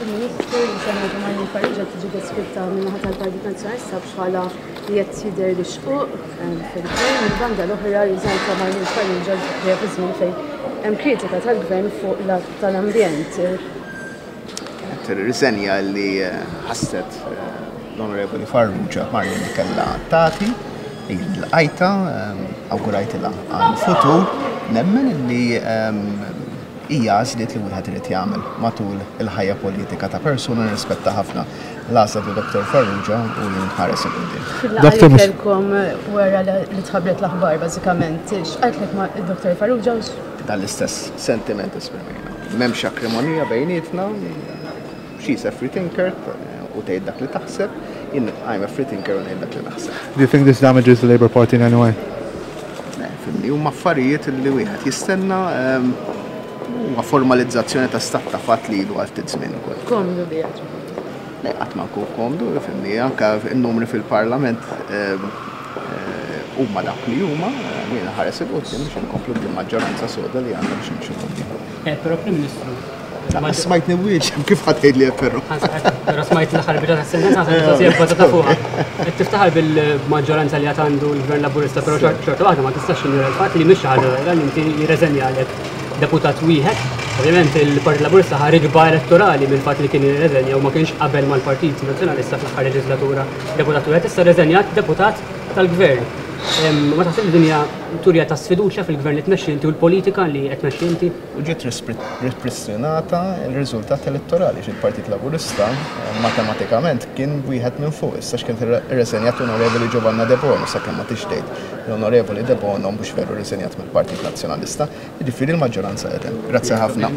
Prim Ministru, riżenja ta' Marlene Farrugia tiġi deskritta min-naħa tal-Partit Nazzjonalista bħala li qed jidher li xquq fil-gvern. Mill-banda l-oħra, riżenja ta' Marlene Farrugia ġejja fi żmien fejn hemm kritika tal-gvern fuq l-att tal-ambjent. Kienet riżenja li ħasset l-Onorevoli Farrugia Marlene kellha tagħti, jien lqajtha, awgurajtilha għall-futur, nemmen li Hija għażliet li wieħed irid jagħmel matul il-ħajja politika ta' persuna nirrispetta ħafna l-għażla ta' Dottor Farrugia u jien nħares 'il quddiem. Fil-laqgħa li kellkom wara li tħabbret l-aħbar bażikament, x'qaltlek Dottor Farrugia u x'. Dan l-istess sentiment esprimejna. M'hemmx akrimonija bejnietna, she's a free thinker u tgħid dak li taħseb, jien I'm a free thinker u ngħid dak li naħseb. Do you think this damages the Labour Party in any way? Le, fimni, huma affarijiet li wieħed jistenna huwa formalizzazzjoni ta' stat ta' fatt li ilu għal ftit żmien ukoll. Komdu biha ġifieri. Le, qatt ma nkun komdu, fimni, anke n-numri fil-Parlament huma dak li huma, jiena nħares 'il quddiem biex inkomplu bil-maġġoranza soda li għandna biex nimxu 'l quddiem. Però Prim Ministru, Lanqas smajtni wieġeb, kif ħa tgħidli hekk però? Però smajt l-aħħar biċċa tas-sentenza ħa mistoqsija bbażata fuqha. Qed tiftaħar bil-maġġoranza li għad għandu l-Gvern Laburista, però xorta waħda ma tistax tinjora l-fatt li mhix xi ħaġa żgħira li inti jirreżenjalek deputat wieħed. Ovvjament il-Partit Laburista ħa riġba elettorali mill-fatt li kien irreżenja u ma kienx qabel mal-Partit Nazzjonalista fl-aħħar leġislatura deputat wieħed, issa rreżenjat deputat tal-Gvern. Ma taħsibx li din hija turija ta' sfiduċja fil-Gvern li tmexxi inti u l-politika li qed tmexxi inti? U ġiet ripristinata r-riżultat elettorali għax il-Partit Laburista matematikament kien wieħed minn fuq. Issa x'kien irreżenjat l-Onorevoli Giovanna Debono sakemm ma tix tgħid l-Onorevoli Debono mhux veru rriżenjat mill-Partit Nazzjonalista. Jiġifieri l-maġġoranza qed hemm. Grazzi ħafna.